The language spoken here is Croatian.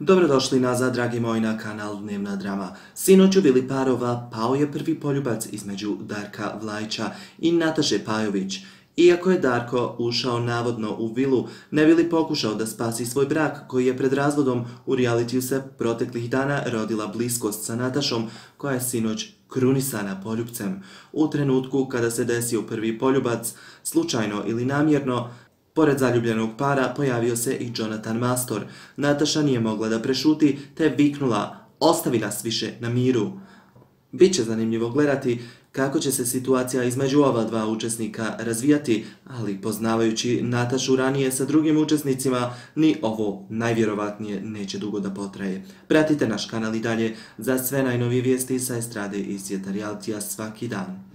Dobrodošli nazad, dragi moji, na kanal Dnevna drama. Sinoć u vili parova pao je prvi poljubac između Darka Vlajića i Nataše Pajović. Iako je Darko ušao navodno u vilu, ne bi li pokušao da spasi svoj brak koji je pred razvodom u realitiju se proteklih dana rodila bliskost sa Natašom, koja je sinoć krunisana poljubcem. U trenutku kada se desio prvi poljubac, slučajno ili namjerno, pored zaljubljenog para pojavio se i Jonathan Mastor. Nataša nije mogla da prešuti te viknula: "Ostavi nas više na miru." Biće zanimljivo gledati kako će se situacija između ova dva učesnika razvijati, ali poznavajući Natašu ranije sa drugim učesnicima, ni ovo najvjerovatnije neće dugo da potraje. Pratite naš kanal i dalje za sve najnovije vijesti sa estrade i svijeta realitija svaki dan.